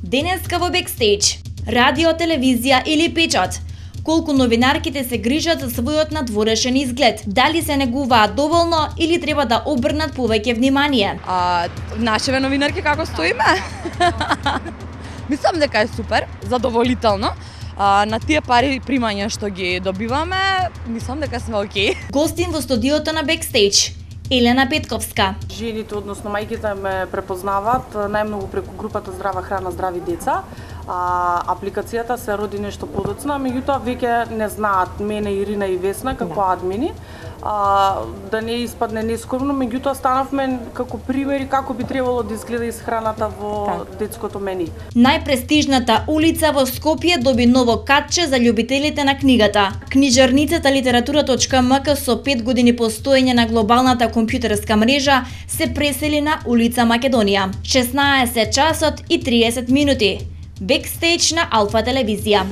Денеска во Бекстејдж, радио, телевизија или печат. Колку новинарките се грижат за својот надворешен изглед, дали се негуваат доволно или треба да обрнат повеќе внимание? Нашеве новинарки како стоиме? Мислам дека е супер, задоволително. На тие пари примања што ги добиваме, мислам дека сме окей. Гостин во студиото на Бекстејдж, Елена Петковска. Жените, односно мајките, ме препознаваат најмногу преку групата Здрава храна, здрави деца. Апликацијата се роди нешто подоцна, меѓутоа веќе не знаат мене, Ирина и Весна како админи. Да не испадне нескромно, меѓутоа станавме како примери како би требало да изгледа исхраната во детското мени. Најпрестижната улица во Скопје доби ново катче за љубителите на книгата. Книжарницата Литература.мк со 5 години постоење на глобалната компјутерска мрежа се пресели на улица Македонија. 16 часот и 30 минути. Бекстејдж на Алфа телевизија.